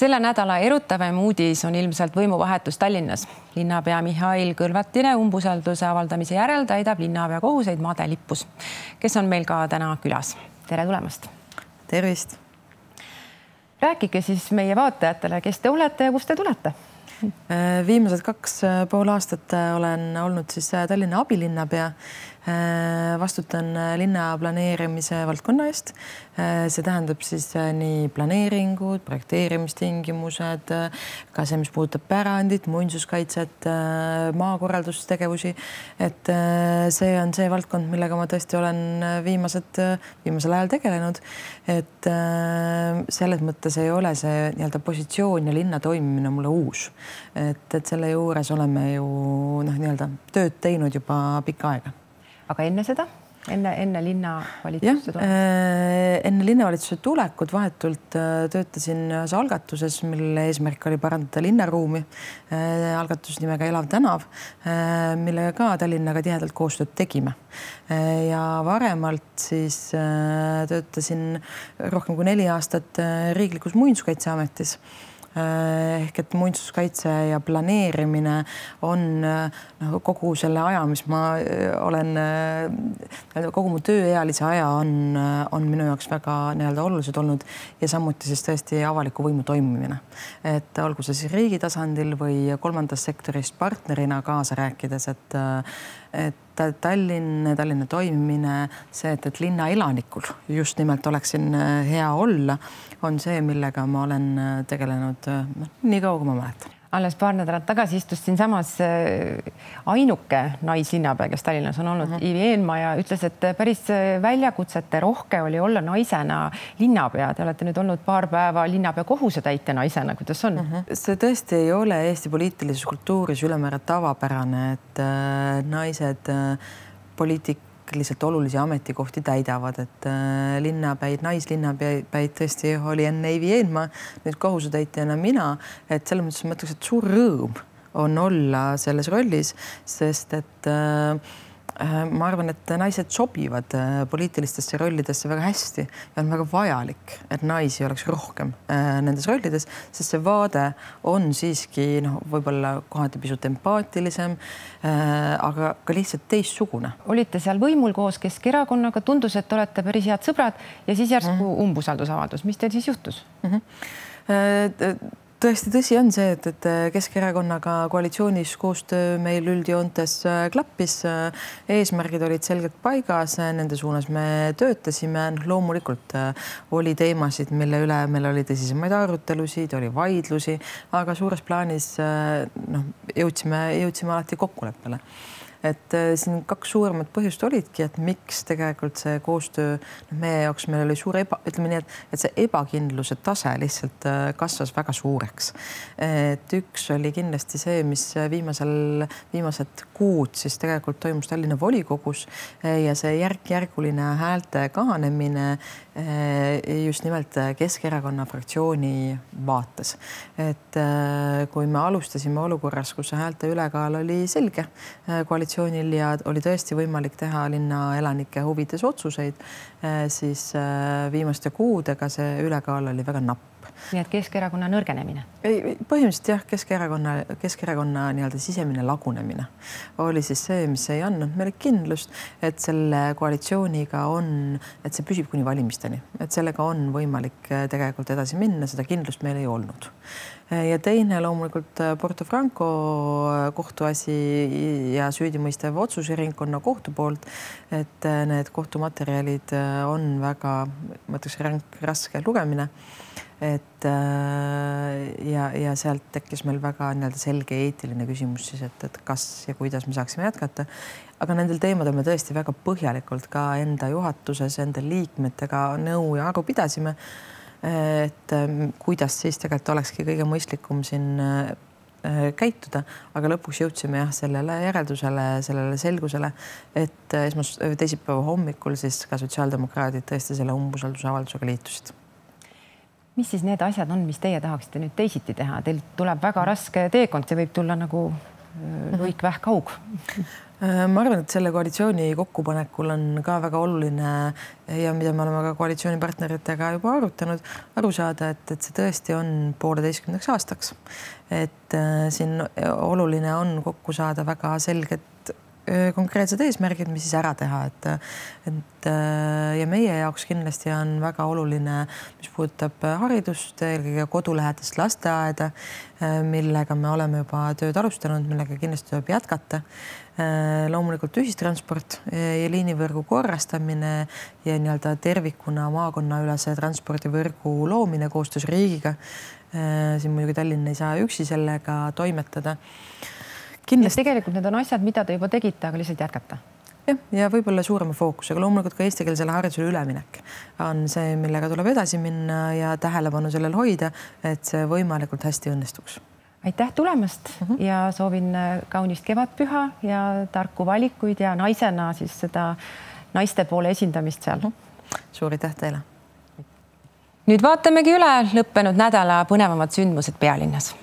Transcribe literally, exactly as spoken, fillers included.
Selle nädala erutavam uudis on ilmselt võimuvahetus Tallinnas. Linnapea Mihhail Kõlvartile umbusalduse avaldamise järel täidab linnapea kohuseid Made Lippus, kes on meil ka täna külas. Tere tulemast! Tervist! Rääkige siis meie vaatajatele, kes te olete ja kust te tulete? Viimased kaks pool aastat olen olnud siis Tallinna abilinnapea. Vastutan linna planeerimise valdkonna eest. See tähendab siis nii planeeringud, projekteerimistingimused, ka see, mis puudutab pärandit, muinsuskaitset, maakorraldustegevusi. Et see on see valdkond, millega ma tõesti olen viimased, viimasel ajal tegelenud. Et selles mõttes ei ole see nii-öelda positsioon ja linna toimimine mulle uus. Et, et selle juures oleme ju noh, nii-öelda tööd teinud juba pikka aega. Aga enne seda? Enne, enne linnavalitsuse tulekut? Enne linnavalitsuse tulekut vahetult töötasin ühes algatuses, mille eesmärk oli parandada linnaruumi. Algatus nimega Elav tänav, millega ka Tallinnaga tihedalt koostööd tegime. Ja varemalt siis töötasin rohkem kui neli aastat Riiklikus Muinsuskaitseametis. Ehk et muinsuskaitse ja planeerimine on no, kogu selle aja, mis ma olen, kogu mu tööealise aja on, on minu jaoks väga nii-öelda olulised olnud ja samuti siis tõesti avaliku võimu toimimine. Et olgu see siis riigi tasandil või kolmandast sektorist partnerina kaasa rääkides, et et Tallinn, Tallinna toimimine, see, et, et linna elanikul just nimelt oleks siin hea olla, on see, millega ma olen tegelenud nii kaua, kui ma mäletan. Alles paar nädalat tagasi istus siin samas ainuke naislinnapea, kes Tallinnas on olnud, uh -huh. Ivi Eenmaa ja ütles, et päris väljakutsete rohke oli olla naisena linnapea. Te olete nüüd olnud paar päeva linnapea kohusetäitja naisena. Kuidas on? Uh -huh. See tõesti ei ole Eesti poliitilises kultuuris ülemäära tavapärane, et naised poliitik lihtsalt olulisi ametikohti täidavad, et linnapäid, naislinnapäid tõesti oli enne Ivi Eenmaa, nüüd kohusetäitjana mina, et selles mõttes ma ütleks, et suur rõõm on olla selles rollis, sest et äh, ma arvan, et naised sobivad poliitilistesse rollidesse väga hästi ja on väga vajalik, et naisi oleks rohkem nendes rollides, sest see vaade on siiski no, võib-olla kohati pisut empaatilisem, aga ka lihtsalt teistsugune. Olite seal võimul koos Keskerakonnaga, tundus, et olete päris head sõbrad ja siis järsku mm. umbusaldusavaldus. Mis teil siis juhtus? Mm -hmm. Tõesti tõsi on see, et, et Keskerakonnaga koalitsioonis koostöö meil üldjoontes klappis. Eesmärgid olid selgelt paigas, nende suunas me töötasime. Loomulikult oli teemasid, mille üle meil oli tõsisemaid arutelusid, oli vaidlusi, aga suures plaanis no, jõudsime, jõudsime alati kokkuleppele. Et siin kaks suuremat põhjust olidki, et miks tegelikult see koostöö no, meie jaoks meil oli suur eba, ütleme nii, et, et see ebakindluse tase lihtsalt kasvas väga suureks. Et üks oli kindlasti see, mis viimasel, viimased kuud siis tegelikult toimus Tallinna volikogus ja see järk-järguline häälte kahanemine just nimelt Keskerakonna fraktsiooni vaates. Et kui me alustasime olukorras, kus see häälte ülekaal oli selge koalitsioonil ja oli tõesti võimalik teha linna elanike huvides otsuseid, siis viimaste kuudega see ülekaal oli väga napp. Nii et Keskerakonna nõrgenemine? Ei, põhimõtteliselt jah, Keskerakonna, Keskerakonna nii-öelda sisemine lagunemine oli siis see, mis ei andnud meile kindlust, et selle koalitsiooniga on, et see püsib kuni valimisteni, et sellega on võimalik tegelikult edasi minna, seda kindlust meil ei olnud. Ja teine loomulikult Porto Franco kohtuasi ja süüdimõistev otsuse ringkonna kohtu poolt, et need kohtumaterjalid on väga, ma ütleks, ränk, raske lugemine. Et ja, ja sealt tekkis meil väga nii-öelda selge eetiline küsimus siis, et, et kas ja kuidas me saaksime jätkata. Aga nendel teemadel me tõesti väga põhjalikult ka enda juhatuses, enda liikmetega nõu ja aru pidasime, et kuidas siis tegelikult olekski kõige mõistlikum siin käituda, aga lõpuks jõudsime jah, sellele järeldusele, sellele selgusele, et esmas, teisipäeva hommikul siis ka sotsiaaldemokraadid tõesti selle umbusaldusavaldusega liitusid. Mis siis need asjad on, mis teie tahaksite nüüd teisiti teha? Teil tuleb väga raske teekond, see võib tulla nagu luik vähkaug. ma arvan, et selle koalitsiooni kokkupanekul on ka väga oluline ja mida me oleme ka koalitsioonipartneritega juba arutanud, aru saada, et, et see tõesti on pooleteistkümneks aastaks. Et äh, siin oluline on kokku saada väga selged konkreetsed eesmärgid, mis siis ära teha, et, et ja meie jaoks kindlasti on väga oluline, mis puudutab haridust, eelkõige kodulähedast lasteaeda, millega me oleme juba tööd alustanud, millega kindlasti tuleb jätkata. Loomulikult ühistransport ja liinivõrgu korrastamine ja nii-öelda tervikuna maakonnaülese transpordivõrgu loomine koostöös riigiga. Siin muidugi Tallinn ei saa üksi sellega toimetada. Kindlasti. Tegelikult need on asjad, mida te juba tegite, aga lihtsalt jätkata. Ja, ja võib-olla suurema fookusega. Loomulikult ka eestikeelsele haridusele üleminek on see, millega tuleb edasi minna ja tähelepanu sellel hoida, et see võimalikult hästi õnnestuks. Aitäh tulemast uh -huh. ja soovin kaunist kevadpüha ja tarku valikuid ja naisena siis seda naiste poole esindamist seal. Uh -huh. Suur aitäh teile. Nüüd vaatamegi üle lõppenud nädala põnevamad sündmused pealinnas.